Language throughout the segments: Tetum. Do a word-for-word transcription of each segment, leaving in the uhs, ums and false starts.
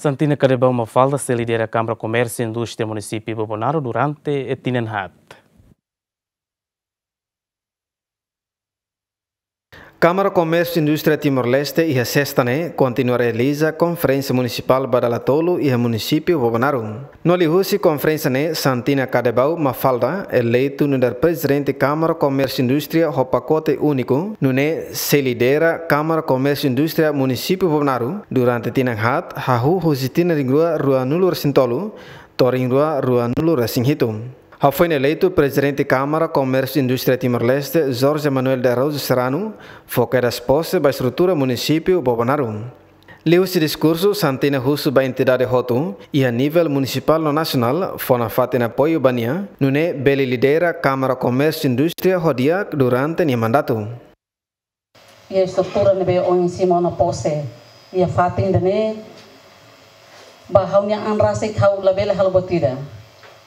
Santina Kadebau Mafalda sei lidera Kámara Komérsiu Indústria Munisípiu Bobonaro durante tinan haat. Kámara Komérsiu Indústria Timor-Leste iha sesta ne'e kontinua realiza konferénsia munisipál ba dala tolu iha munisípiu Bobonaro. No liuhusi konferénsia ne'e Santina Kadebau Mafalda eleitu nu'udar Prezidente Kámara Komérsiu Indústria ho pakote úniku, nune'e sei lidera Kámara Komérsiu Indústria Munisípiu Bobonaro durante tinan haat hahú husi tinan rihun rua ruanulu resin tolu to'o rihun rua ruanulu resin hitu. Hafoin eleitu Prezidente Kámara Komérsiu Indústria Timor-Leste, Jorge Manuel de Araújo Serrano, fó kedas pose ba estrutura munisípiu Bobonaro. Liuhusi diskursu, Santina husu ba entidade hotu iha nivel munisipál no nasionál fó nafatin apoiu ba nia, nune'e bele lidera Kámara Komérsiu Indústria ho di'ak durante nia mandatu. Iha estrutura ne'ebé ohin simu ona pose iha fatin ida-ne'e, ba ha'u-nia an rasik ha'u labele halo buat ida.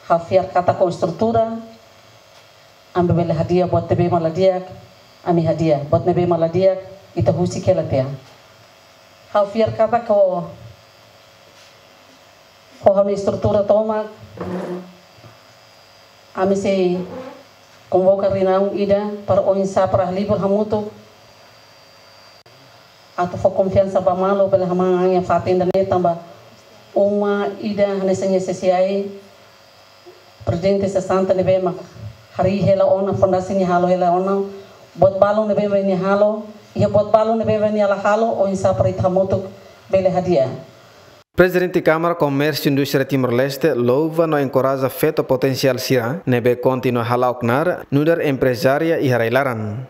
Ha'u fiar katak ho estrutura, ami bele hadi'a buat ne'ebé mak la di'ak, ami hadi'a. Buat ne'ebé mak la di'ak, ita husik hela tiha. Ha'u fiar katak ho, ho ha'u-nia estrutura tomak, ami sei konvoka reuniaun ida para oinsá para halibur hamutuk atu fó konfiansa ba malu bele hamahan an iha fatin ida-ne'e tanba uma ida hanesan S S I, prezidente sesante ne'ebé mak harii hela ona, fondasi nia halo hela ona, buat balun ne'ebé mak nia halo, iha buat balun ne'ebé mak nia la halo, oinsá para ita hamutuk bele hadi'a. Prezidente Kámara Komérsiu Indústria Timor-Leste louva no enkoraja feto potensiál sira ne'ebé kontinua hala'o knaar nu'udar emprezária iha rai-laran.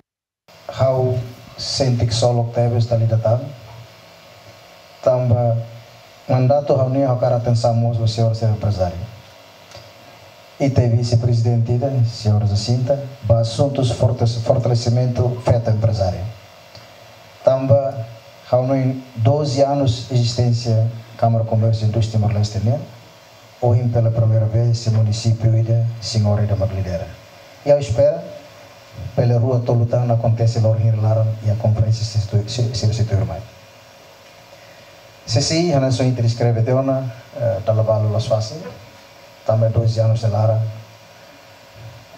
Ha'u sente ksolok tebes dala ida tan, tanba mandatu ha'u-nian ha'u hakarak atensaun mós ba señora, señora emprezária. Ita-nia vise-prezidente ida, señora Jacinta, ba asuntus fortes-, fortalesimentu feto emprezária. Tanba ha'u hanoin doze anos ezisténsia Kámara Komérsiu Indústria Timor-Leste nian, ohin pela primeira vez sei munisípiu ida, señora ida mak lidera. I ha'u espera, pela rua tolu tan akontese loron hira laran iha konferénsia sira sei tu-, se-, sira sei tuirmai. S S I, hanesan ita deskreve tiha ona, eh, dala balu la'ós fasil, tanba doze anos nia laran,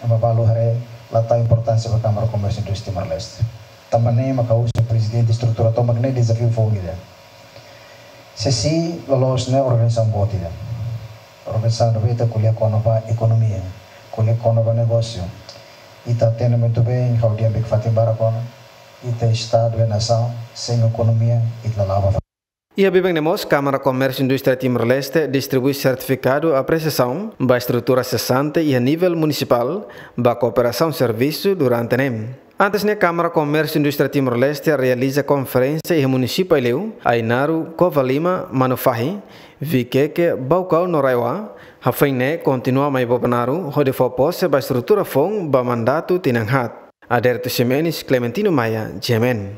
ema balu haree la tau importánsia ba Kámara Komérsiu Indústria Timor-Leste. Tanba ne'e mak ha'u husu prezidente estrutura tomak ne'e dezafiu foun ida. S S I loloos ne'e organizasaun boot ida. Organizasaun ne'ebé ita ko'alia kona-ba ekonomia, ko'alia kona-ba negósiu. Ita hatene muito bem, ha'u dehan ba fatin barak ona, ita estadu, nasaun, sein ekonomia, ita la la'o ba. Iha biban ne'e mós, Kámara Komérsiu Indústria Timor-Leste distribui sertifikadu apresiasaun ba estrutura sesante iha nivel munisipál ba kooperasaun servisu durante ne'e. Antes ne'e, Kámara Komérsiu Indústria Timor-Leste realiza konferénsia iha munisípiu Aileu, Ainaro, Covalima, Manufahi, Viqueque, Baucau no RAEOA, hafoin ne'e kontinua mai Bobonaro, hodi fó pose ba estrutura foun ba mandatu tinan haat. Aderito Ximenes, Clementino Maia, G M N.